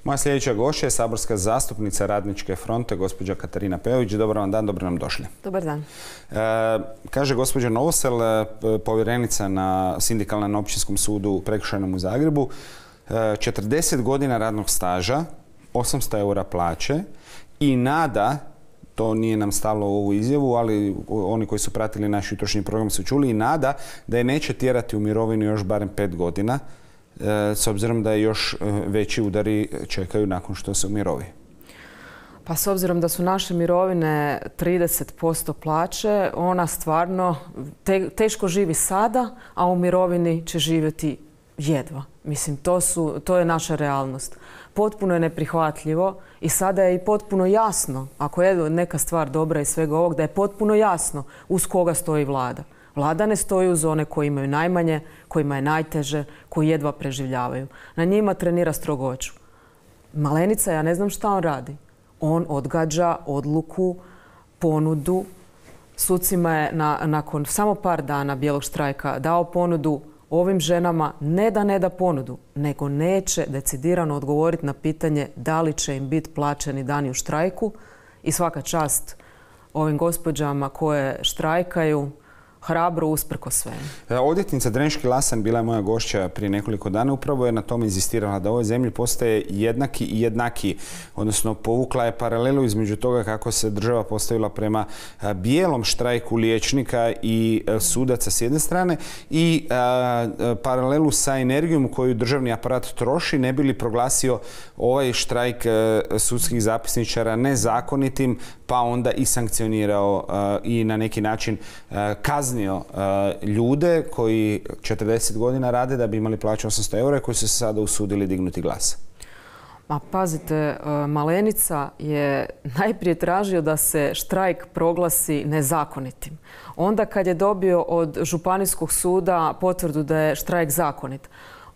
Moja sljedeća gošća je saborska zastupnica Radničke fronte, gospođa Katarina Peović. Dobar vam dan, dobro nam došli. Dobar dan. Kaže gospođa Novosel, povjerenica sindikalna na Općinskom sudu prekršajnom u Zagrebu, 40 godina radnog staža, 800 eura plaće i nada, to nije nam stalo u ovu izjavu, ali oni koji su pratili naš jutrošnji program su čuli, i nada da je neće tjerati u mirovinu još barem 5 godina, s obzirom da je još veći udari čekaju nakon što se umirovi. Pa s obzirom da su naše mirovine 30% plaće, ona stvarno teško živi sada, a u mirovini će živjeti jedva. Mislim, to je naša realnost. Potpuno je neprihvatljivo i sada je i potpuno jasno, ako je neka stvar dobra iz svega ovog, da je potpuno jasno uz koga stoji vlada. Vlada ne stoji uz one koji imaju najmanje, kojima je najteže, koji jedva preživljavaju. Na njima trenira strogoću. Malenica, ja ne znam šta on radi. On odgađa odluku, ponudu. Sucima je nakon samo par dana bijelog štrajka dao ponudu ovim ženama, ne da ponudu, nego neće decidirano odgovoriti na pitanje da li će im biti plaćeni dani u štrajku. I svaka čast ovim gospođama koje štrajkaju, hrabro usprko svemu. Odvjetnica Drenški Lasan bila je moja gošća prije nekoliko dana. Upravo je na tome inzistirala da u ovoj zemlji postaje jednaki i jednaki. Odnosno, povukla je paralelu između toga kako se država postavila prema bijelom štrajku liječnika i sudaca s jedne strane i paralelu sa energijom koju državni aparat troši ne bi li proglasio ovaj štrajk sudskih zapisničara nezakonitim, pa onda i sankcionirao i na neki način kaznio ljude koji 40 godina rade da bi imali plaću 800 eura, koji su se sada usudili dignuti glas. Ma pazite, Malenica je najprije tražio da se štrajk proglasi nezakonitim. Onda kad je dobio od Županijskog suda potvrdu da je štrajk zakonit,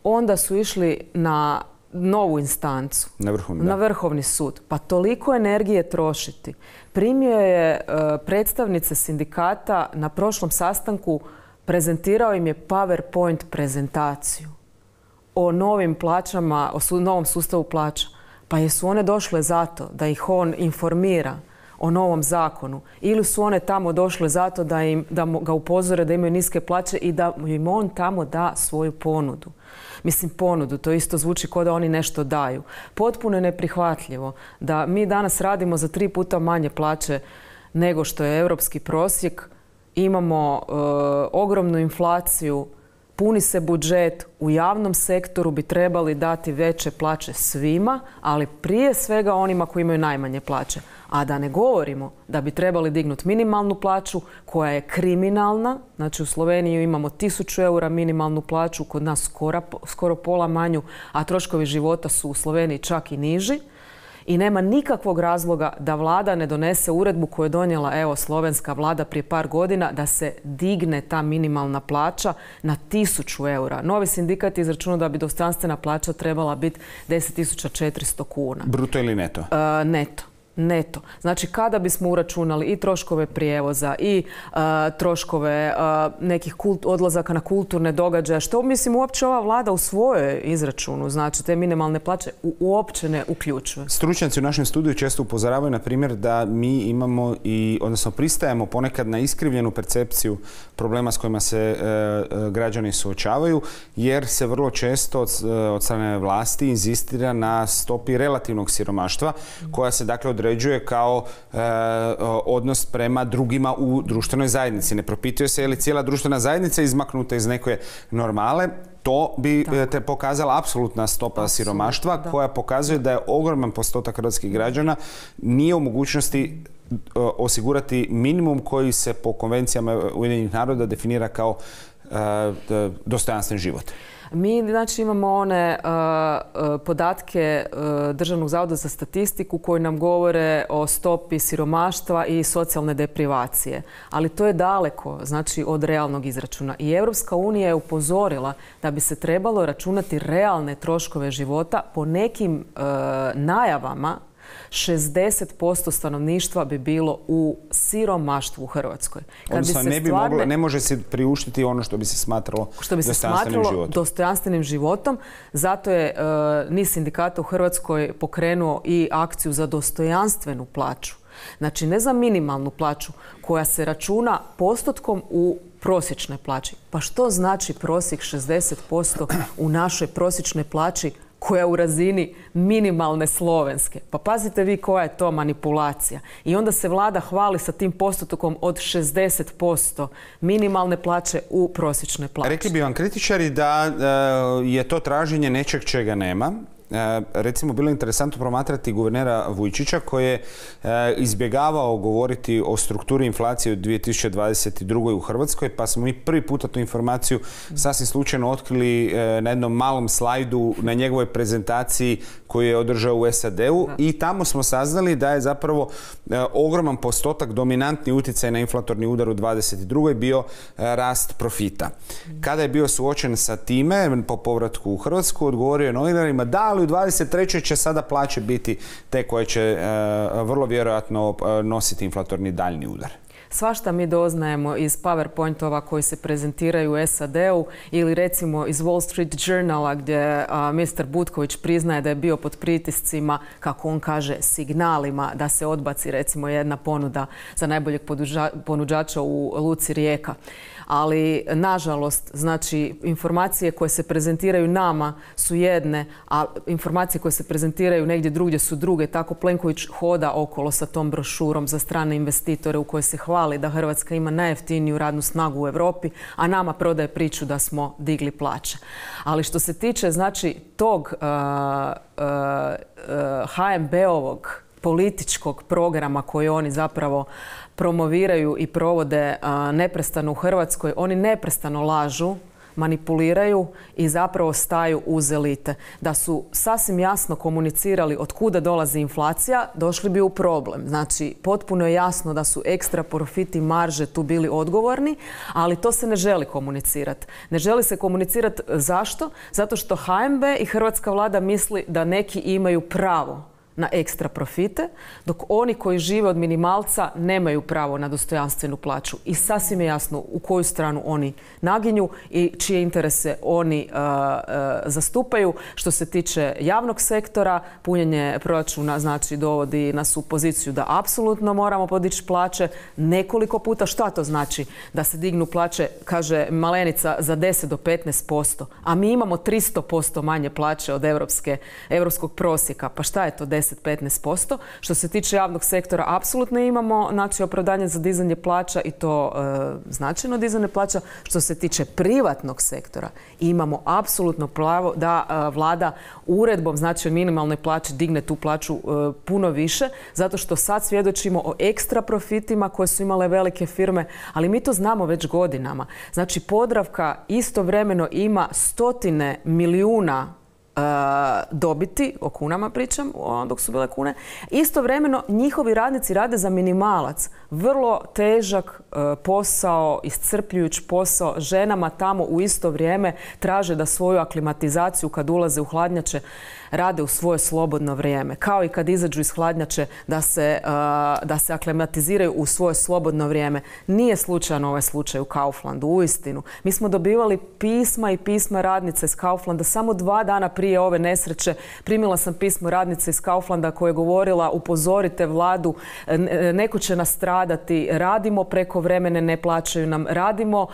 onda su išli na novu instancu, na Vrhovni sud. Pa toliko energije trošiti. Primio je predstavnice sindikata na prošlom sastanku, prezentirao im je PowerPoint prezentaciju o novim plaćama, o novom sustavu plaća. Pa jesu one došle zato da ih on informira o novom zakonu ili su one tamo došle zato da ga upozore da imaju niske plaće i da im on tamo da svoju ponudu. Mislim, ponudu, to isto zvuči kao da oni nešto daju. Potpuno je neprihvatljivo da mi danas radimo za 3 puta manje plaće nego što je europski prosjek. Imamo ogromnu inflaciju, puni se budžet, u javnom sektoru bi trebali dati veće plaće svima, ali prije svega onima koji imaju najmanje plaće. A da ne govorimo da bi trebali dignuti minimalnu plaću koja je kriminalna. Znači u Sloveniji imamo 1000 eura minimalnu plaću, kod nas skoro pola manju, a troškovi života su u Sloveniji čak i niži. I nema nikakvog razloga da vlada ne donese uredbu koju je donijela slovenska vlada prije par godina da se digne ta minimalna plaća na 1000 eura. Novi sindikat je izračunao da bi dostojanstvena plaća trebala biti 10.400 kuna. Bruto ili neto? Neto. Znači, kada bismo uračunali i troškove prijevoza i troškove nekih odlazaka na kulturne događaje, što mislim uopće ova vlada u svojoj izračunu, znači te minimalne plaće uopće ne uključuje. Stručnjaci u našem studiju često upozoravaju, na primjer, da mi imamo odnosno pristajemo ponekad na iskrivljenu percepciju problema s kojima se građani suočavaju, jer se vrlo često od strane vlasti inzistira na stopi relativnog siromaštva, koja se dakle određuje kao odnos prema drugima u društvenoj zajednici. Ne propituje se je li cijela društvena zajednica izmaknuta iz neke normale. To bi te pokazala apsolutna stopa siromaštva koja pokazuje da je ogroman postotak hrvatskih građana nije u mogućnosti osigurati minimum koji se po konvencijama Ujedinjenih naroda definira kao dostojanstven život. Mi znači imamo one podatke Državnog zavoda za statistiku koji nam govore o stopi siromaštva i socijalne deprivacije. Ali to je daleko, znači, od realnog izračuna. I Europska unija je upozorila da bi se trebalo računati realne troškove života po nekim najavama 60% stanovništva bi bilo u siromaštvu u Hrvatskoj. Odnosno, ne može se priuštiti ono što bi se smatralo dostojanstvenim životom. Zato je niz sindikata u Hrvatskoj pokrenuo i akciju za dostojanstvenu plaću. Znači, ne za minimalnu plaću koja se računa postotkom u prosječnoj plaći. Pa što znači prosjek 60% u našoj prosječnoj plaći koja je u razini minimalne slovenske? Pa pazite vi koja je to manipulacija. I onda se vlada hvali sa tim postotkom od 60% minimalne plaće u prosječnoj plaći. Rekli bi vam kritičari da je to traženje nečeg čega nema. Recimo, bilo je interesantno promatrati guvernera Vujčića koji je izbjegavao govoriti o strukturi inflacije u 2022. u Hrvatskoj, pa smo mi prvi puta tu informaciju sasvim slučajno otkrili na jednom malom slajdu na njegovoj prezentaciji koju je održao u SAD-u i tamo smo saznali da je zapravo ogroman postotak, dominantni utjecaj na inflatorni udar u 2022. bio rast profita. Kada je bio suočen sa time po povratku u Hrvatsku, odgovorio je novinarima da, ali u 2023. će sada plaće biti te koje će vrlo vjerojatno nositi inflatorni daljni udar. Svašta mi doznajemo iz PowerPointova koji se prezentiraju u SAD-u ili recimo iz Wall Street Journala gdje Mr. Butković priznaje da je bio pod pritiscima, kako on kaže, signalima da se odbaci recimo jedna ponuda za najboljeg ponuđača u luci Rijeka. Ali, nažalost, znači, informacije koje se prezentiraju nama su jedne, a informacije koje se prezentiraju negdje drugdje su druge. Tako Plenković hoda okolo sa tom brošurom za strane investitore u kojoj se hvali da Hrvatska ima najjeftiniju radnu snagu u Europi, a nama prodaje priču da smo digli plaće. Ali što se tiče, znači, tog HNB-ovog političkog programa koji oni zapravo promoviraju i provode neprestano u Hrvatskoj, oni neprestano lažu, manipuliraju i zapravo staju uz elite. Da su sasvim jasno komunicirali od kuda dolazi inflacija, došli bi u problem. Znači, potpuno je jasno da su ekstra profiti, marže tu bili odgovorni, ali to se ne želi komunicirati. Ne želi se komunicirati zašto? Zato što HNB i hrvatska vlada misli da neki imaju pravo na ekstra profite, dok oni koji žive od minimalca nemaju pravo na dostojanstvenu plaću. I sasvim je jasno u koju stranu oni naginju i čije interese oni zastupaju. Što se tiče javnog sektora, punjenje proračuna znači dovodi nas u poziciju da apsolutno moramo podići plaće nekoliko puta. Šta to znači? Da se dignu plaće, kaže Malenica, za 10 do 15%, a mi imamo 300% manje plaće od europskog prosjeka. Pa šta je to 10-15%? Što se tiče javnog sektora, apsolutno imamo znači opravdanje za dizanje plaća i to značajno dizanje plaća. Što se tiče privatnog sektora, imamo apsolutno pravo da vlada uredbom, znači o minimalnoj plaći, digne tu plaću puno više, zato što sad svjedočimo o ekstra profitima koje su imale velike firme, ali mi to znamo već godinama. Znači, Podravka istovremeno ima stotine milijuna dobiti, o kunama pričam, dok su bile kune. Istovremeno njihovi radnici rade za minimalac. Vrlo težak posao, iscrpljujuć posao. Ženama tamo u isto vrijeme traže da svoju aklimatizaciju kad ulaze u hladnjače rade u svoje slobodno vrijeme. Kao i kad izađu iz hladnjače da se aklimatiziraju u svoje slobodno vrijeme. Nije slučajan ovaj slučaj u Kauflandu, uistinu. Mi smo dobivali pisma i pisma radnice iz Kauflanda. Samo 2 dana prije ove nesreće primila sam pismo radnice iz Kauflanda koja je govorila: upozorite vladu, neko će nastradati, radimo preko vremene, ne plaćaju nam, radimo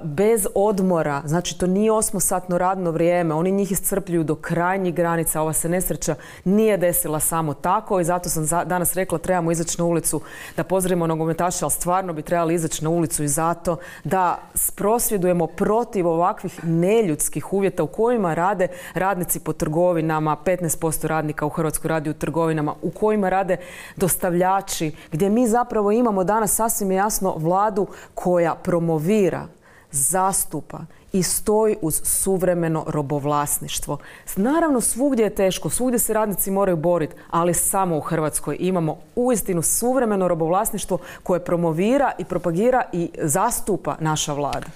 bez odmora. Znači, to nije 8-satno radno vrijeme. Oni njih iscrpljuju do krajnjih granica. Ova se nesreća nije desila samo tako i zato sam danas rekla trebamo izaći na ulicu da pozdravimo nogometaše, ali stvarno bi trebali izaći na ulicu i zato da prosvjedujemo protiv ovakvih neljudskih uvjeta u kojima rade radnici po trgovinama, 15% radnika u Hrvatskoj radi u trgovinama, u kojima rade dostavljači, gdje mi zapravo imamo danas sasvim jasno vladu koja promovira, zastupa i stoji uz suvremeno robovlasništvo. Naravno, svugdje je teško, svugdje se radnici moraju boriti, ali samo u Hrvatskoj imamo uistinu suvremeno robovlasništvo koje promovira i propagira i zastupa naša vlada.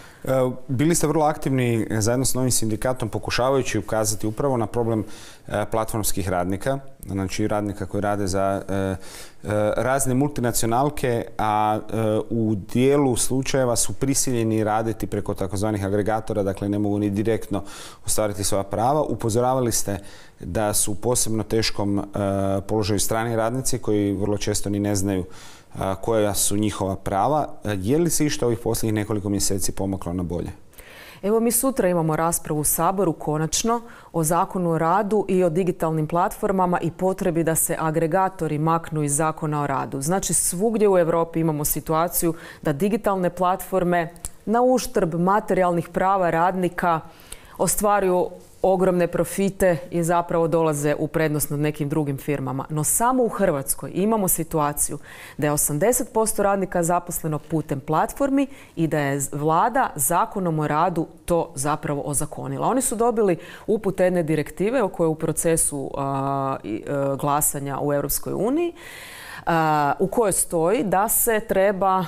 Bili ste vrlo aktivni zajedno s Novim sindikatom pokušavajući ukazati upravo na problem platformskih radnika, znači radnika koji rade za razne multinacionalke, a u dijelu slučajeva su prisiljeni raditi preko takozvanih agregatora, dakle ne mogu ni direktno ostvariti svoja prava. Upozoravali ste da su u posebno teškom položaju strani radnici koji vrlo često ni ne znaju koja su njihova prava. Je li se išta ovih posljednjih nekoliko mjeseci pomaklo na bolje? Evo, mi sutra imamo raspravu u Saboru konačno o Zakonu o radu i o digitalnim platformama i potrebi da se agregatori maknu iz Zakona o radu. Znači, svugdje u Europi imamo situaciju da digitalne platforme na uštrb materijalnih prava radnika ostvaruju ogromne profite i zapravo dolaze u prednost nad nekim drugim firmama. No samo u Hrvatskoj imamo situaciju da je 80% radnika zaposleno putem platformi i da je vlada Zakonom o radu to zapravo ozakonila. Oni su dobili upute jedne direktive o kojoj je u procesu glasanja u Europskoj uniji, u kojoj stoji da se treba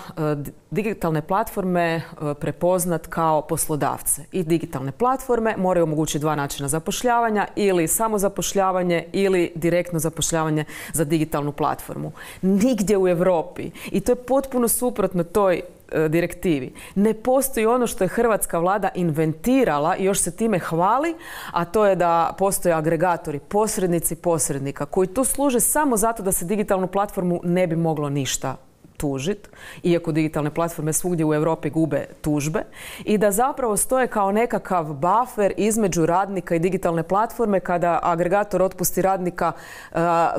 digitalne platforme prepoznat kao poslodavce. I digitalne platforme moraju omogućiti dva načina zapošljavanja, ili samozapošljavanje ili direktno zapošljavanje za digitalnu platformu. Nigdje u Europi, i to je potpuno suprotno toj direktivi, ne postoji ono što je hrvatska vlada inventirala i još se time hvali, a to je da postoje agregatori, posrednici posrednika koji tu služe samo zato da se digitalnu platformu ne bi moglo ništa tužiti, iako digitalne platforme svugdje u Europi gube tužbe, i da zapravo stoje kao nekakav buffer između radnika i digitalne platforme. Kada agregator otpusti radnika,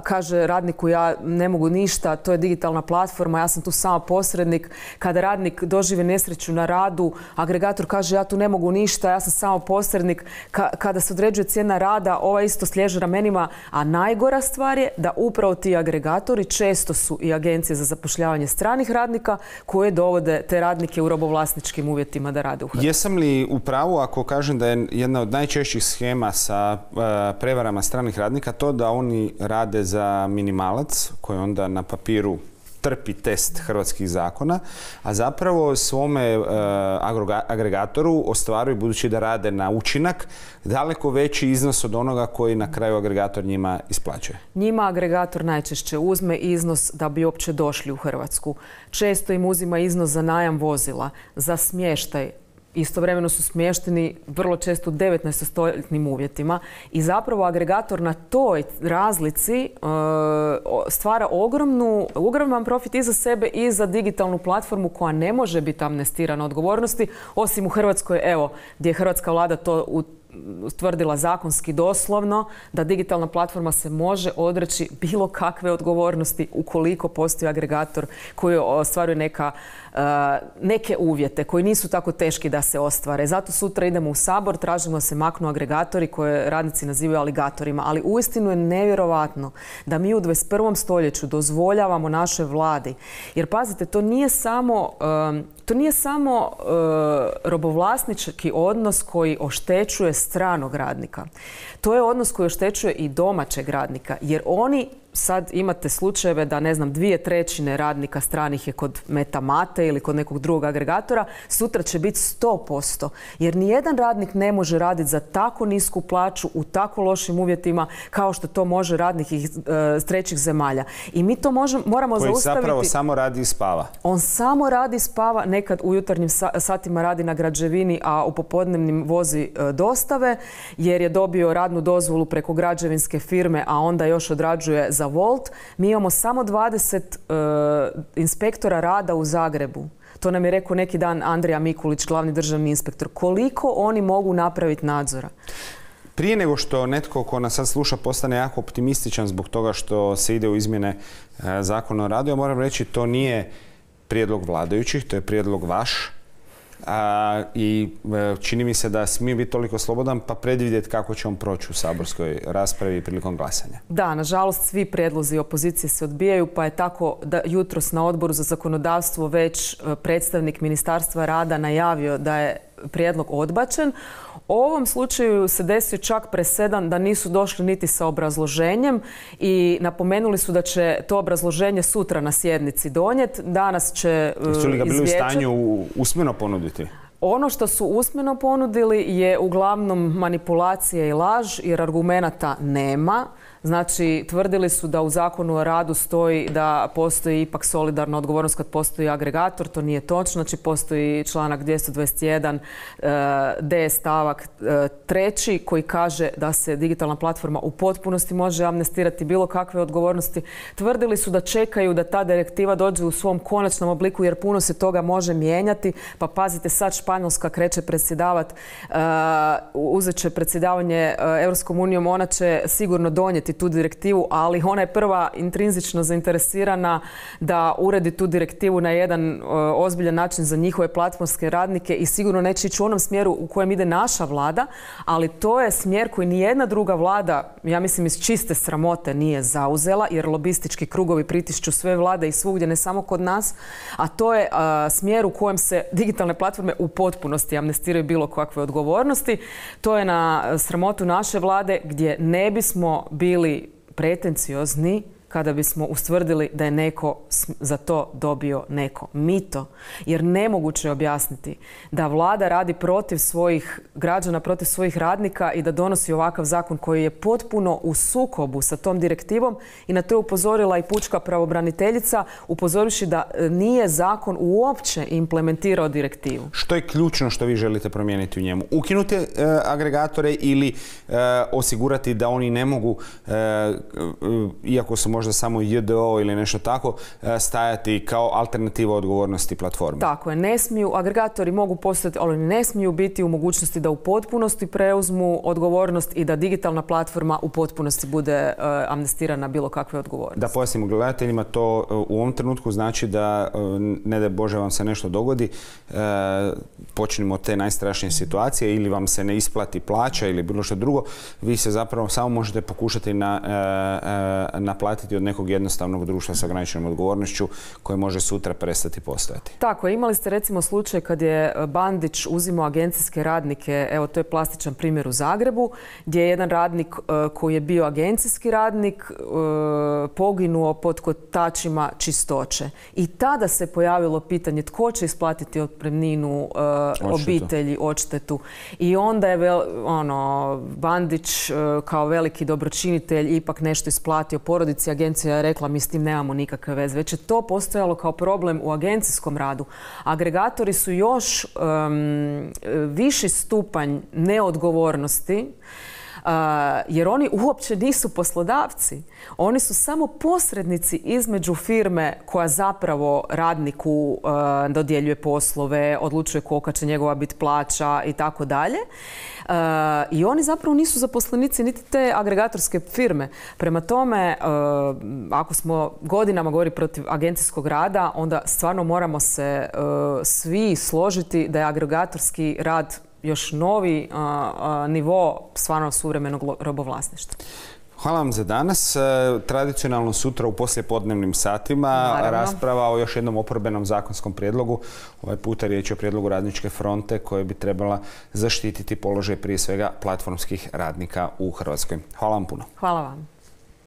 kaže radniku ja ne mogu ništa, to je digitalna platforma, ja sam tu samo posrednik. Kada radnik doživi nesreću na radu, agregator kaže ja tu ne mogu ništa, ja sam samo posrednik. Kada se određuje cijena rada, ova isto sliježe ramenima, a najgora stvar je da upravo ti agregatori često su i agencije za zapošljavanje stranih radnika koje dovode te radnike u robovlasničkim uvjetima da rade u Hrvatskoj. Jesam li u pravu ako kažem da je jedna od najčešćih schema sa prevarama stranih radnika to da oni rade za minimalac koji onda na papiru trpi test hrvatskih zakona, a zapravo svome agregatoru ostvaruju, budući da rade na učinak, daleko veći iznos od onoga koji na kraju agregator njima isplaćuje? Njima agregator najčešće uzme iznos da bi uopće došli u Hrvatsku. Često im uzima iznos za najam vozila, za smještaj. Istovremeno su smješteni vrlo često u 19-stoljetnim uvjetima i zapravo agregator na toj razlici stvara ogroman profit i za sebe i za digitalnu platformu koja ne može biti amnestirana odgovornosti, osim u Hrvatskoj, evo, gdje je hrvatska vlada to utvrdila zakonski doslovno, da digitalna platforma se može odreći bilo kakve odgovornosti ukoliko postoji agregator koji ostvaruje neke uvjete koji nisu tako teški da se ostvare. Zato sutra idemo u Sabor, tražimo da se maknu agregatori koje radnici nazivaju aligatorima, ali uistinu je nevjerovatno da mi u 21. stoljeću dozvoljavamo našoj vladi. Jer pazite, to nije samo robovlasnički odnos koji oštećuje stranog radnika. To je odnos koji oštećuje i domaćeg radnika, jer oni sad imate slučajeve da, ne znam, 2/3 radnika stranih je kod Metamate ili kod nekog drugog agregatora, sutra će biti 100%. Jer nijedan radnik ne može raditi za tako nisku plaću u tako lošim uvjetima kao što to može radnik iz trećih zemalja. I mi to moramo zaustaviti. Koji zapravo samo radi i spava. On samo radi i spava, nekad u jutarnjim satima radi na građevini, a u popodnevnim vozi dostave, jer je dobio radnu dozvolu preko građevinske firme, a onda još odrađuje za Volt. Mi imamo samo 20 inspektora rada u Zagrebu. To nam je rekao neki dan Andrija Mikulić, glavni državni inspektor. Koliko oni mogu napraviti nadzora? Prije nego što netko ko nas sad sluša postane jako optimističan zbog toga što se ide u izmjene Zakona o radu, ja moram reći to nije prijedlog vladajućih, to je prijedlog vaš. I čini mi se da smije biti toliko slobodan pa predvidjeti kako će on proći u saborskoj raspravi prilikom glasanja. Da, nažalost svi prijedlozi opozicije se odbijaju, pa je tako da jutros na Odboru za zakonodavstvo već predstavnik Ministarstva rada najavio da je prijedlog odbačen. U ovom slučaju se desio čak presedan da nisu došli niti sa obrazloženjem i napomenuli su da će to obrazloženje sutra na sjednici donijeti. Danas će Jesu li ga bili u stanju usmeno ponuditi? Ono što su usmeno ponudili je uglavnom manipulacija i laž jer argumenata nema. Znači, tvrdili su da u Zakonu o radu stoji da postoji ipak solidarna odgovornost kad postoji agregator. To nije točno. Znači, postoji članak 221 d stavak 3 koji kaže da se digitalna platforma u potpunosti može amnestirati bilo kakve odgovornosti. Tvrdili su da čekaju da ta direktiva dođe u svom konačnom obliku jer puno se toga može mijenjati. Pa pazite, sad Španjolska kreće predsjedavati, uzet će predsjedavanje Europskom unijom, ona će sigurno donijeti tu direktivu, ali ona je prva intrinzično zainteresirana da uredi tu direktivu na jedan ozbiljan način za njihove platformske radnike i sigurno neće ići u onom smjeru u kojem ide naša vlada, ali to je smjer koji nijedna druga vlada, ja mislim iz čiste sramote, nije zauzela jer lobistički krugovi pritišću sve vlade i svugdje, ne samo kod nas, a to je smjer u kojem se digitalne platforme u potpunosti amnestiraju bilo kakve odgovornosti. To je na sramotu naše vlade gdje ne bismo bili pretenciozni kada bismo ustvrdili da je neko za to dobio neko mito. Jer nemoguće je objasniti da vlada radi protiv svojih građana, protiv svojih radnika i da donosi ovakav zakon koji je potpuno u sukobu sa tom direktivom i na to je upozorila i pučka pravobraniteljica, upozorivši da nije zakon uopće implementirao direktivu. Što je ključno što vi želite promijeniti u njemu? Ukinuti agregatore ili osigurati da oni ne mogu, iako su možda samo JDO ili nešto tako, stajati kao alternativa odgovornosti platforme? Tako je. Ne smiju, agregatori mogu postojati, ali ne smiju biti u mogućnosti da u potpunosti preuzmu odgovornost i da digitalna platforma u potpunosti bude amnestirana bilo kakve odgovornosti. Da pojasnimo gledateljima, to u ovom trenutku znači da, ne daj Bože vam se nešto dogodi, počnemo od te najstrašnije situacije ili vam se ne isplati plaća ili bilo što drugo, vi se zapravo samo možete pokušati naplatiti od nekog jednostavnog društva sa ograničenom odgovornošću koje može sutra prestati postojati. Tako, imali ste recimo slučaj kad je Bandić uzimao agencijske radnike, evo to je plastičan primjer u Zagrebu, gdje je jedan radnik koji je bio agencijski radnik poginuo pod kotačima čistoće. I tada se pojavilo pitanje tko će isplatiti otpremninu obitelji, odštetu. I onda je Bandić kao veliki dobročinitelj ipak nešto isplatio porodici. Agencija je rekla mi s tim nemamo nikakve veze. Već je to postojalo kao problem u agencijskom radu. Agregatori su još viši stupanj neodgovornosti jer oni uopće nisu poslodavci. Oni su samo posrednici između firme koja zapravo radniku dodjeljuje poslove, odlučuje kolika će njegova biti plaća i tako dalje. I oni zapravo nisu zaposlenici niti te agregatorske firme. Prema tome, ako smo godinama govorili protiv agencijskog rada, onda stvarno moramo se svi složiti da je agregatorski rad još novi nivo stvarno suvremenog robovlasništva. Hvala vam za danas. Tradicionalno sutra u poslijepodnevnim satima rasprava o još jednom oporbenom zakonskom prijedlogu. Ovaj puta riječ je o prijedlogu Radničke fronte koje bi trebala zaštititi položaj prije svega platformskih radnika u Hrvatskoj. Hvala vam puno. Hvala vam.